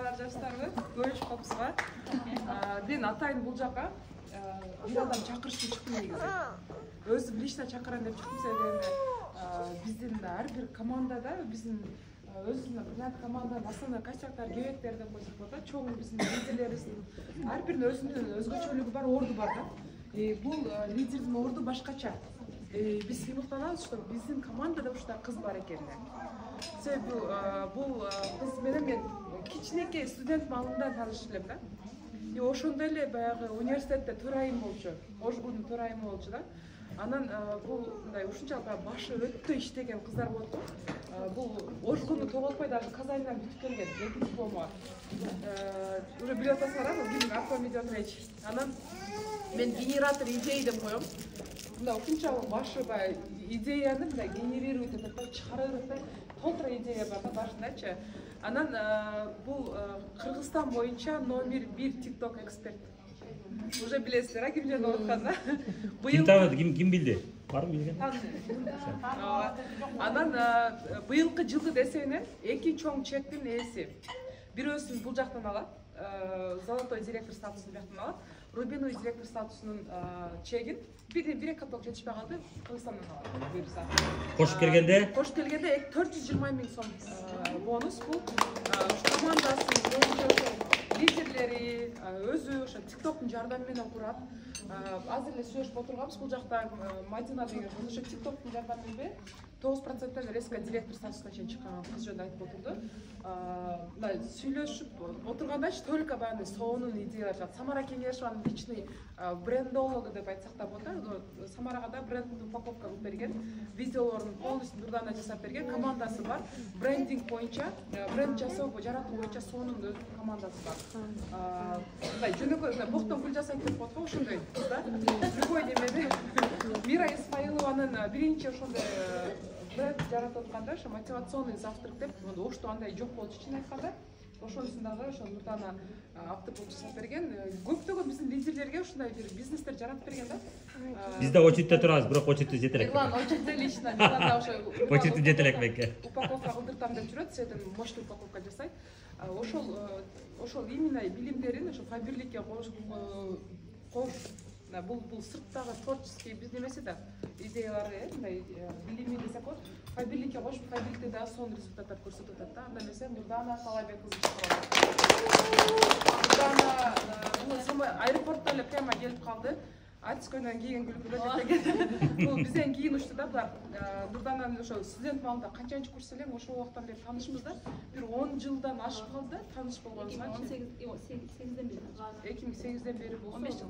Саламатсыздар жаштарбы? Көрүшүп калыпсызга. Мен атайын бул жака бир адам чакырышып чыктым негизи. Өзүм лично чакырам деп чыктым себеби биздин ар бир командада биздин өзүнүн бренд команданын основной косяктары кебектер деп койсок болот да. Чоң биздин лидерлерибиздин ар биринин өзүнүн өзгөчөлүгү бар, орду бар да. Бул лидердин орду башкача. Биз сыймыктанабыз, что биздин командада ушундай кыз бар экенин. Себеби бул кыз менен мен кичинекей студент маалымдан таанышып элем да. Ошондой эле баягы университетте төрайым болчу, ожгунун төрайымы болчу да. Анан бул мындай ушунчалык башы өтө иштеген кыздар болот го. Бул ожгуну тоголтпой даже казайынан бүтүп келген, эки диплому. Уже билип атасыңар, ким Артем идет речь. Анан мен генератор идей деп коем. Мындай ушунчалык башы баягы идеяны мындай генерировать этип чыгарып атат. Толтура идея бар да башындачы. Анан бул Кыргызстан боюнча номер 1 TikTok эксперт. Уже билесиздер, кимдер болуп атканда. Ким таанады, ким билди? Барбы билген? Анан быйылкы жылдын эсебинен эки чоң чектин ээси. Бирөөсүн бул жактан алат, золотой директор статусун бияктан алат. Рубиновый директор статусунун чегин бир каток жетишпей калды, Кыргызстандан алат буюрса. Кошуп келгенде 420 000 сом бонус бул командасынын лидерлери өзү ошо TikToктун жардамы менен курат. Азыр эле сүйлөшүп отурганбыз, бул жакта Мадина деген ошо TikToктун жардамы менен 9% резко директор статусуна чейин чыккан кыз жөнүндө айтып отурду. Мындай сүйлөшүп отургандачы только баягы сонун идеялар чыгат. Самара Кеңешованын личный брендологу деп айтсак да болот да. Самарага да брендин упаковка кылып берген, видеолорун полностью Нурдана жасап берген, командасы бар. Брендинг боюнча, бренд жасоо, жаратуу боюнча сонун командасы бар. Мындай жөнөкөй боктон гүл жасайт деп коет го, ошондой кыз да. Любой немеде Мира Исмаилованын биринчи ошондой бренд жаратып атканда, ошо мотивационный завтрак деп, ошту андай жок болчу чын айтканда. Ошонусун дагы ошо Нурдана автопол жасап берген. Көптөгөн биздин лидерлерге ушундай бир бизнестер жаратып берген да. Биз да очередте турабыз, бирок очередте жете элек. Очередте лично Нурдана ошо очередте жете элек бекке. Упаковка кылдыртам деп жүрөт, сетен мощный упаковка жасайт. Ошол именно билимдерин ошо Фаберликке кош бул сырттагы творческий биз немеси да идеялары, мындай билими десек болот. Фаберликке кошуп, Фаберликте да сонун результаттар көрсөтүп атат да. Анда эмесе Нурдана Талайбек кызы чыгарат. Нурдана бул самый аэропортто эле прямо келип калды. Ачкойдон кийин күлүп деген. Бул бизден кийин учту да булар. Нурдананын ошо студент маалында канчанчы курс элең ошол убактан бери таанышмыз да. Бир 10 жылдан ашып калды таныш болгонубузга. 2008ден бери. 2008ден бери болсо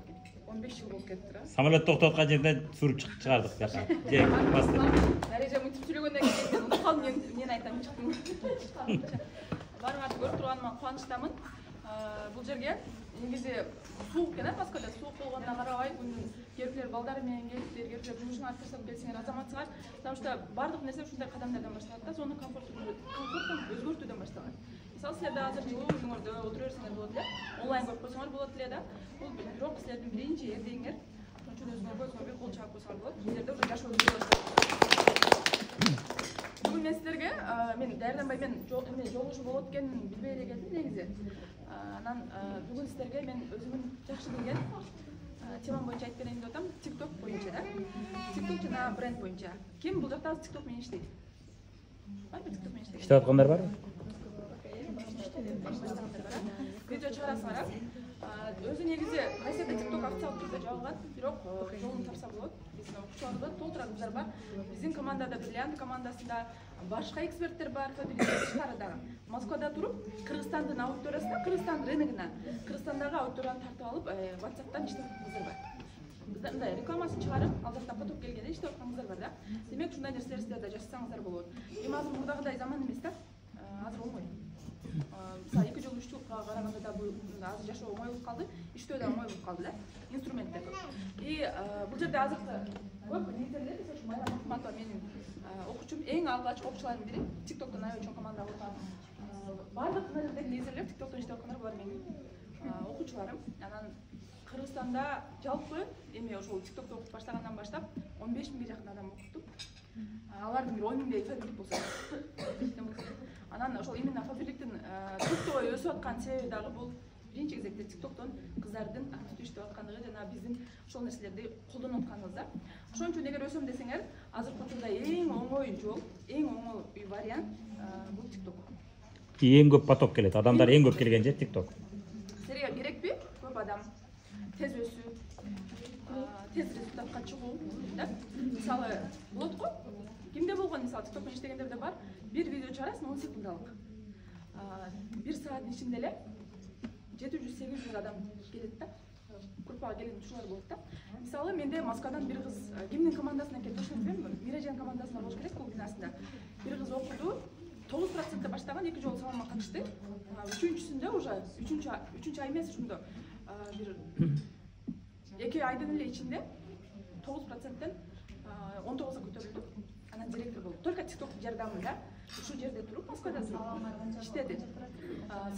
15 жыл болуп кетти да. Самолет токтоткан жерден суруп чыгардык жака. Дарежа мынтип сүйлөгөндөн кийин мен унутуп калдым, мен айтам чыктым. Барыңарды көрүп турганыма кубанычтамын. Бул жерге негизи суук экен, Москвада суук болгонуна карабай, кээ бирлер балдары менен келиптир, кээ бирлер жумушуңарды таштап келсеңер азаматсыңар. Потому что бардык нерсе ушундай кадамдардан башталат да, сонун комфорттун өзгөртүүдөн башталат. Мисалы силер да азыр жылуу үйүңөрдө отура берсеңер болот эле, онлайн көрүп койсоңор болот эле да. Бул бирок силердин биринчи эрдеңиңер, ошон үчүн өзүңөргө бир кол чаап койсоңор болот. Силерде уже жашоо башталат. Бүгүн мен силерге мен даярданбай жолугушуу болот экенин билбей эле келдим негизи. Анан бүгүн силерге мен өзүмдүн жакшы билген темам боюнча айтып берейин деп атам. TikTok боюнча да. TikTok жана бренд боюнча. Ким бул жакта TikTok менен иштейт? Барбы TikTok менен иштейт? Иштеп аткандар барбы? Видео чыгарасыңар. Өзү негизи кайсыда TikTok официалдык түрдө жабылган, бирок жолун тапса болот. Биздин окуучуларыбыз толтура кыздар бар. Биздин командада Бриллиант командасында башка эксперттер бар, тышкары дагы. Москвада туруп, Кыргызстандын аудиториясына, Кыргызстан рыногуна, Кыргызстандагы аудиторияны тартып алып, WhatsApp'тан иштеп аткан кыздар бар. Мындай рекламасын чыгарып, ал жакта поток келгенде иштеп аткан кыздар бар да. Демек, ушундай нерселер силер да жасасаңыздар болот. Эми азыр мурдагыдай заман эмес да. Азыр оңой. Мисалы 2 жыл 3 жылга караганда да бул азыр жашоо оңой болуп калды, иштөө да оңой болуп калды да. Инструменттер көп. Бул жерде азыркы көп лидерлер, ошо Майра Махматова менин окуучум, эң алгачкы окуучулардын бири, TikToктон аябай чоң команда курган. Бардык лидерлер TikTоктон иштеп аткандар, булар менин окуучуларым. Анан Кыргызстанда жалпы эми ошол TikTokто окуп баштагандан баштап 15 000 жакын адам окуттук. Алардын бир 10 000 Фаберлик болсо. Анан ошол именно Фаберликтин түртөй өсүп аткан себеби дагы бул биринчи кезекте TikTok'тон кыздардын активдүү иштеп аткандыгы жана биздин ошол нерселерди колдонуп атканыбыз да. Ошон үчүн эгер өсөм десеңер, азыркы учурда эң оңой жол, эң оңой вариант бул TikTok. Эң көп поток келет. Адамдар эң көп келген жер TikTok. Силерге керекпи? Көп адам тез өсүү, тез результатка чыгуу, да? Мисалы, болот го? Кимде болгон, мисалы, TikTok менен иштегендерде бар, бир видео чыгарасың 10 секундалык. 1 сааттын ичинде эле 700-800 адам келет да. Группага келген ушулар болот да. Мисалы, менде Москвадан бир кыз кимдин командасына келди, ошону билбейм, Мирежен командасына болуш керек бул бинасында. Бир кыз окуду, 9% баштаган, 2 жолу салонго катышты. Үчүнчүсүндө уже, үчүнчү ай эмес, ушундо бир 2 айдын эле ичинде 9%тен 19-га көтөрүлдү. Анан директор болду. Только TikTok жардамында ушул жерде туруп, Москвада туруп иштеди.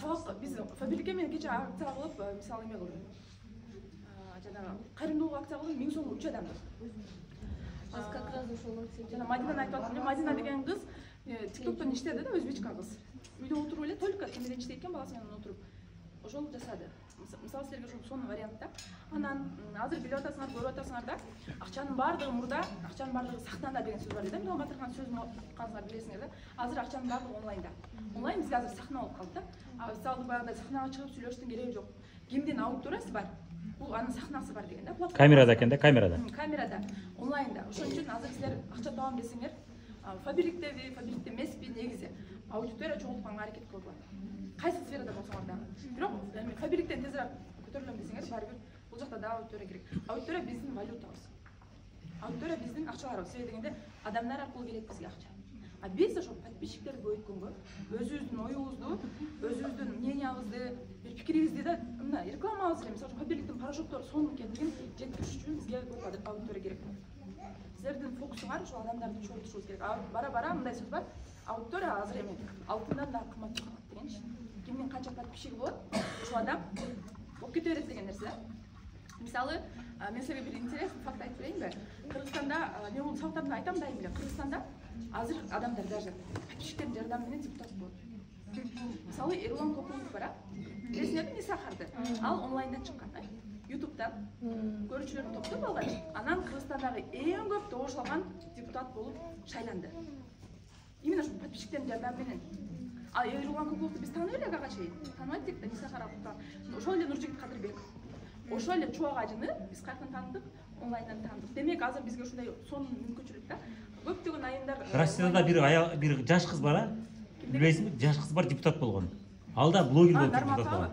Сабак биз Фабрика менен кече акция кылып, мисалы эме кылдык. Жана кайрымдуулук акция кылып 1000 сом 3 адамды. Биз как раз ошол акция. Жана Мадина айтып атты, Мадина деген кыз TikToктон иштеди да, өзбечка кыз. Үйдө отуруп эле только ким менен иштейт экен, баласы менен отуруп ошол жасады. Мисалы силерге ошол сонун вариант да. Анан азыр билип атасыңар, көрүп атасыңар да, акчанын бардыгы мурда, акчанын бардыгы сахнада деген сөз бар да. Мирон Батырхан сөзүн окуганыңыздар билесиңер да. Азыр акчанын бардыгы онлайнда. Онлайн бизге азыр сахна болуп калды да. Мисалы баягыдай сахнага чыгып сүйлөштүн кереги жок. Кимдин аудиториясы бар, бул анын сахнасы бар деген да. Камерада экен да, камерада. Камерада, онлайнда. Ошон үчүн азыр силер акча табам десеңер, фабриктеби, фабрикте эмеспи, негизи аудитория чогултканга аракет кылгыла. Кайсы сферада болсоңор дагы. Бирок фабриктен тезирээк көтөрүлөм десеңер, баары бир бул жакта да аудитория керек. Аудитория биздин валютабыз. Аудитория биздин акчаларыбыз. Себеби дегенде адамдар аркылуу келет бизге акча. А биз ошол подписчиктерди көбөйткөнгө, өзүбүздүн оюбузду, өзүбүздүн мнениябызды, бир пикирибизди да мына рекламабыз эле, мисалы фабриктин порошоктору сонун экендигин жеткириш үчүн бизге көп аудитория керек. Силердин фокусуңар ошол адамдарды чогултушубуз керек. Бара-бара мындай сөз бар. Аудитория азыр эме алтындан да кымбат чыгат дегенчи. Кимдин канча подписчиги болот, ошол адам болуп кете берет деген нерсе. Мисалы, мен силерге бир интересный факт айтып берейинби? Кыргызстанда, мен бул сабактарымда айтам дайым эле, Кыргызстанда азыр адамдар даже подписчиктердин жардамы менен депутат болот. Мисалы, Эрлан Кокулов бар, билесиңерби Нисахарды? Ал онлайндан чыккан, YouTube'дан көрүүчүлөрдүн топтоп алган. Анан Кыргызстандагы эң көп добуш алган депутат болуп шайланды. Именно ошол подписчиктердин жардамы менен. А Эрлан Кокуловду биз тааныйбы эле ага чейин. Тааныбайт да, Нисахар апа. Ошол эле Нуржигит Кадырбек. Ошол эле Чубак ажыны биз кайрадан таандык, онлайндан таандык. Демек азыр бизге ушундай сонун мүмкүнчүлүк да. Көптөгөн айымдар Россияда бир жаш кыз бар, билесиңби? Жаш кыз бар, депутат болгон. Ал да блогер болуп депутат болгон.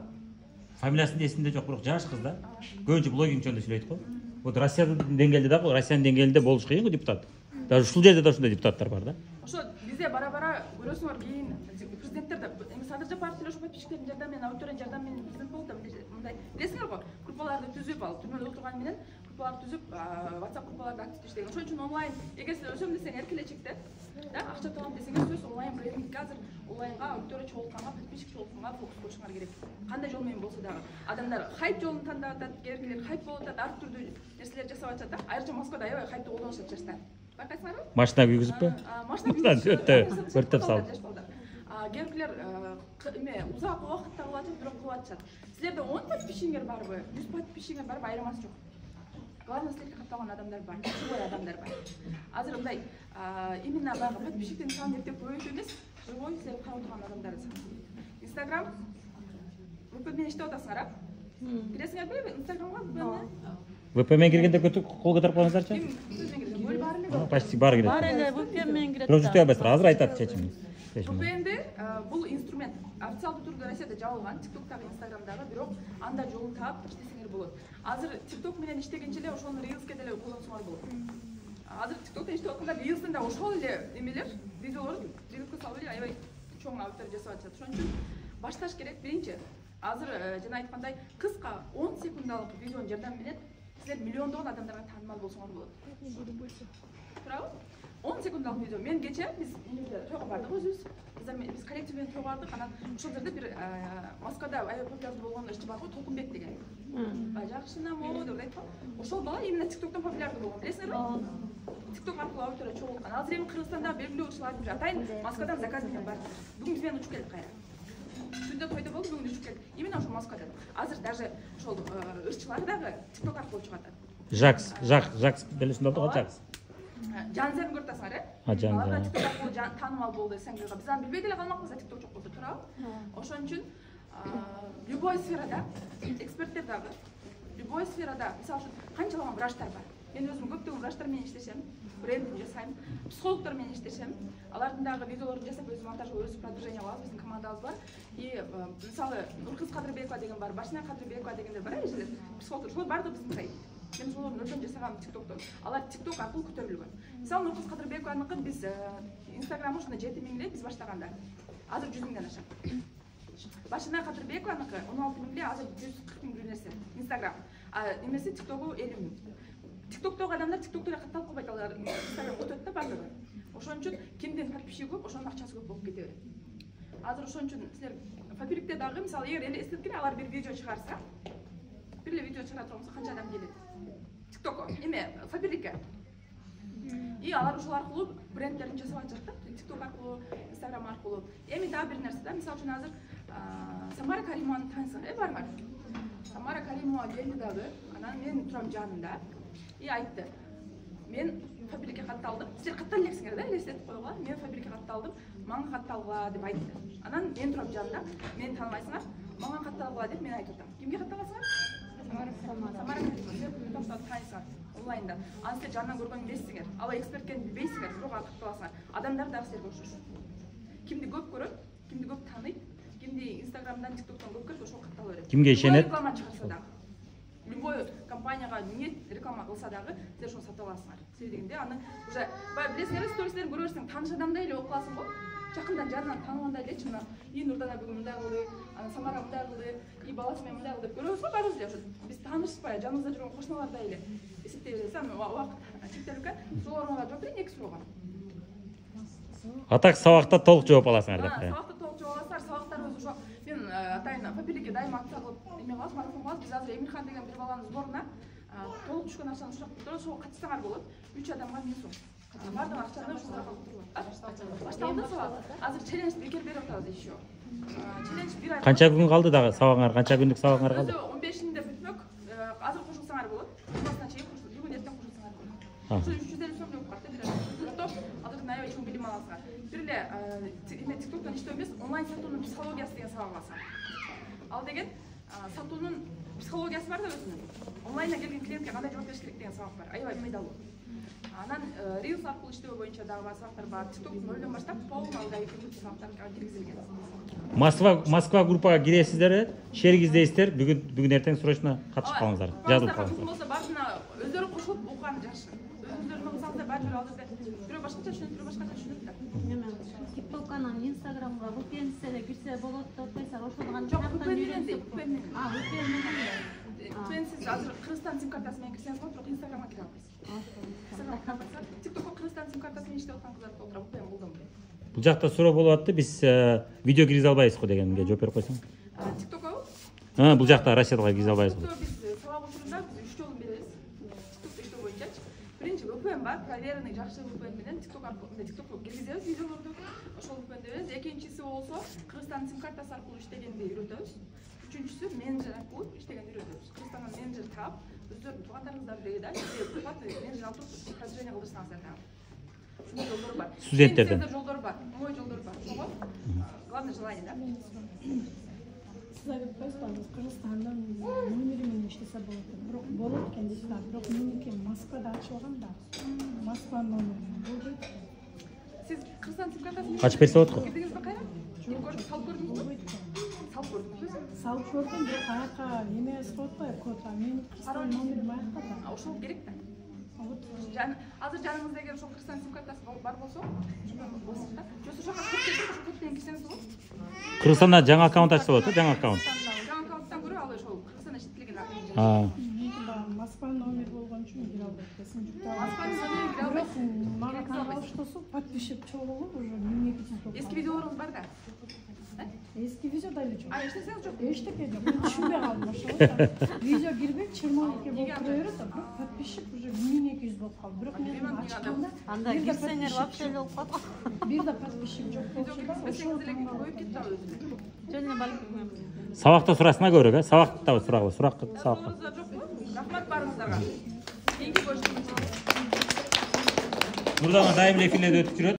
Фамилиясын эсимде жок, бирок жаш кыз да. Көбүнчө блогинг жөнүндө сүйлөйт го. Вот Россиянын деңгээлинде да, Россиянын деңгээлинде болуш кыйын го депутат. Даже ушул жерде да ушундай депутаттар бар да. Ошо бизде бара-бара көрөсүңөр, кийин президенттер да Садыр Жапаров деле ошо подписчиктердин жардамы менен, аудиториянын жардамы менен президент болду да, мындай. Билесиңер го, группаларды түзүп, ал түрмөдө отурган менен группаларды түзүп, WhatsApp группаларда активдүү иштеген. Ошон үчүн онлайн, эгер силер өсөм десеңер, келечекте, да, акча табам десеңер, сөз онлайн брендингге азыр онлайнга аудитория чогултканга, подписчик чогултканга фокус коюшуңар керек. Кандай жол менен болсо дагы. Адамдар хайп жолун тандап атат, кээкелер хайп болуп атат, ар түрдүү нерселер жасап атат да. Айрыкча Москвада аябай хайпты колдонушат жаштар. Байкайсыңарбы? Машина күйгүзүппү? Машина күйгүзүп өрттөп салып. Кээкелер эме узак убакытта кылып атышат, бирок кылып атышат. Силерде 10 подписчигиңер барбы, 100 подписчигиңер барбы, айырмасы жок. Главное, силерге катталган адамдар бар, живой адамдар бар. Азыр мындай именно баягы подписчиктин санын эптеп көбөйтүү эмес, живой силер карап турган адамдар саны. Instagram VP менен иштеп атасыңар, киресиңерби Instagramга? VP менен киргенде кол көтөрүп коюңуздарчы. Почти баары кирет. Бар эле VP менен кирет. Бирок жүтөй албайсыздар, азыр айтат чечимин. VPN бул инструмент официалдуу түрдө Россияда жабылган, TikTok'тагы, Instagram'дагы, бирок анда жолун таап иштесеңер болот. Азыр TikTok менен иштегенче эле ошону Reels'ке деле колдонсоңор болот. Азыр TikTok'та иштеп аткандар Reels'тен да ошол эле эмелер, видеолор Reels'ке салып эле аябай чоң аудитория жасап атышат. Ошон үчүн башташ керек. Биринчи, азыр жана айткандай кыска 10 секундалык видеонун жардамы менен силер миллиондогон адамдарга таанымал болсоңор болот. Туурабы? 10 секундалык видео. Мен кече биз тойго бардык өзүбүз. Биз коллектив менен тойго бардык. Анан ошол жерде бир Москвада аябай популярдуу болгон ишчи бар го, Толкунбек деген. Жакшына мо деп айтпа. Ошол бала именно TikTok'тон популярдуу болгон. Билесиңерби? TikTok аркылуу аудитория чогулткан. Азыр эми Кыргызстанда белгилүү ушул айтып атайын, Москвадан заказ менен бар. Бүгүн биз менен учуп келди кайра. Түндө тойдо болду, бүгүн учуп келди. Именно ошо Москвада. Азыр даже ошол ырчылар дагы TikTok аркылуу чыгат. Жакс белесиңер да, Жакс. Жанзерин көрүп атасыңар, э? Алар TikTok аркылуу таанымал болду десең, биз аны билбей деле калмакпыз, TikTok жок болсо, туурабы? Ошон үчүн любой сферада, эксперттер дагы, любой сферада, мисалы үчүн канчалаган врачтар бар. Мен өзүм көптөгөн врачтар менен иштешем, брендинг жасайм, психологдор менен иштешем. Алардын дагы видеолорун жасап, өзү монтажга, өзү продвижение кылабыз, биздин командабыз бар. И мисалы Нуркыз Кадырбекова деген бар, Башина Кадырбекова дегендер бар, эжелер, психологдор. Ошолор баардыгы биздин сайт. Мен ошолордун өтөн жасагам TikTokто. Алар TikTok аркылуу көтөрүлгөн. Мисалы Нуркыз Кадырбекованыкын биз Instagramы ушундай 7.000 эле биз баштаганда. Азыр 100.000ден ашат. Башина Кадырбекованыкы 16.000 эле, азыр 140.000 бир нерсе. Instagram. Немеси TikTok'у 50.000. TikTok'тогу адамдар TikTok'то эле катталып калбайт, алар Instagram өтөт да баардыгы. Ошон үчүн кимдин подписчиги көп, ошонун акчасы көп болуп кете берет. Азыр ошон үчүн силер фабрикте дагы мисалы эгер элестеткиле алар бир видео чыгарса, бир эле видео чыгара турганса канча адам келет? TikTok'ко, эме фабрикке. И алар ошол аркылуу брендтерин жасап атышат да, TikTok аркылуу, Instagram аркылуу. Эми дагы бир нерсе да, мисалы үчүн азыр Самара Каримованы таанысыңар, баарыңар. Самара Каримова келди дагы, анан мен турам жанында. И айтты, мен фабрикке катталдым. Силер каттала элексиңер да, элестетип койгула. Мен фабрикке катталдым, мага катталгыла деп айтты. Анан мен турам жанында, мени тааныбайсыңар, мага катталгыла деп мен айтып атам. Кимге катталасыңар? Самара Каримова таанысыңар онлайнда. Аны силер жанынан көргөн эмессиңер. Ал эксперт экенин билбейсиңер, бирок ага катталасыңар. Адамдар дагы силерге окшош. Кимди көп көрөт, кимди көп тааныйт, кимди Инстаграмдан, TikToктон көп көрөт, ошого каттала берет. Кимге ишенет? Реклама чыгарса дагы. Любой компанияга ниет реклама кылса дагы силер ошону сатып аласыңар. Силер дегенде аны уже билесиңер, стористерин көрө берсең, тааныш адамдай эле болуп каласың го. Жакындан жанынан тааныбандай элечи мына и Нурдана бүгүн мындай кылды, анан Самара мындай кылды, и баласы менен мындай кылды деп көрөбүз го баарыбыз эле. Ошо биз таанышпай, жаныбызда жүргөн кошуналардай эле эсептей беребиз. Убакыт чектелип экен. Сурооңорго жооп берейин, 2 суроого. Атак сабакта толук жооп аласыңар деп. Сабакта толук жооп аласыңар. Сабактарыбыз ошо мен атайын фабрикке дайыма акция кылып эме кылабыз, марафон кылабыз. Биз азыр Эмирхан деген бир баланын сборуна толук түшкөн акчаны сурап туруп, ошого катышсаңар болот. 3 адамга 1000 сом. Бардык акчаны ушул жака калтырылат. Башталды сабак. Азыр челлендж бекер берип атабыз еще. Челлендж 1 ай. Канча күн калды дагы сабагыңар? Канча күндүк сабагыңар калды? 15-inde бүтмөк. Азыр кошулсаңар болот. Жумасына чейин бүгүн эртең кошулсаңар болот. Ошо 350 сом жооп барат. Азыр наябай чоң билим аласыңар. Бир эле эме TikToктон иштөө эмес, онлайн сатуунун психологиясы деген сабак аласың. Ал деген сатуунун психологиясы бар да өзүнүн. Онлайнга келген клиентке кандай жооп бериш керек деген сабак бар. Аябай пайдалуу. Анан Reels аркылуу иштөө боюнча дагы бар сабактар бар. TikTok нолдон баштап полный алгай сабактар киргизилген. Москва группага киресиздер, шерик издейсиздер. Бүгүн эртең срочно катышып калыңыздар. Жазылып калыңыздар. Болсо баарына өздөрү кошулуп окуган жакшы. Өзүңөрдүн окусаңыздар баары ал жерде бирөө башкача түшүнөт, бирөө башкача түшүнөт да. TikTok'нан Instagram'га VPN-се эле кирсе болот деп атпайсыздар, ошону гана Жок, VPN менен. VPN менен. Сиз азыр Кыргызстан сим картасы менен кирсеңиз болот, бирок Instagramга кире албайсыз. TikTok'ко Кыргызстан сим картасы менен иштеп аткан кыздар толтура, VPN колдонбойт. Бул жакта суроо болуп атты. Биз видео киргизе албайбыз го дегенге жооп берип койсоң. TikTok'ко? Бул жакта Россияга киргизе албайбыз го. Биз сабак учурунда биз 3 жолун беребиз. TikTok'то иштөө боюнчачы. Биринчи VPN бар, проверенный жакшы VPN менен TikTok аркылуу TikTok'ко киргизебиз видеолорду. Ошол VPN беребиз. Экинчиси болсо Кыргызстан сим картасы аркылуу иштегенди үйрөтөбүз. Үчүнчүсү менеджер аркылуу иштегенди үйрөтөбүз. Кыргызстандан менеджер таап, өздөрүнүн туугандарыңыздар деги да, менеджер алып туруп продвижение кылдырсаңыздар дагы. Ушундай жолдор бар. Студенттерден жолдор бар, оңой жолдор бар. Ошого главное желание да. Siz aytып койсуңуз, Кыргызстанда номери менен иштесе болот. Бирок болот экен дейсиз, бирок меники Москвада ачып алган да. Москва номери болбойт. Сиз Кыргызстан сим картасын ачып берсе болот го. Кирдиңизби кайра? Салып көрдүңүзбү? Салып көрдүңүзбү? Салып көрдүм, бирок аяка эме эсип атпайбы, код. Мен Кыргызстан номери аякта да. Ошол керек да. Азыр жаныңызда эгер ошол Кыргызстан сим картасы бар болсо, болсо да. Жок, ошого код келип, ошол код менен кирсеңиз болот. Кыргызстанда жаңы аккаунт ачса болот, жаңы аккаунт. Жаңы аккаунттан көрө ал ошол Кыргызстанда иштетилген аккаунт. Меники баягы Москва номер болгон үчүн кире албайт экенсиң. Москва номери кире албайсыз. Мага канал оштосо подписчик чогулуп уже 1200 болот. Эски видеолоруңуз бар да. Эски видео да эле жок. Эчтесеңиз жок. Эчтеке жок. Мен түшүнбөй калдым ошого. Видео кирбей 20 болуп тура берет, подписчик уже 1200 болуп калды. Бирок мен ачканда Анда кирсеңер вообще эле болуп калат. бир да подписчик жок болчу да. Ошол эле көбөйүп кетти ал өзү. Жөн эле Сабакта сурасына көрөк, сабакта сурагыла, суракка, сабакка. Сорунуздар жокпу? Рахмат барыңыздарга. Кийинки көрүшкөнчө. Нурдан дайым эле эфирлерде өтүп жүрөт.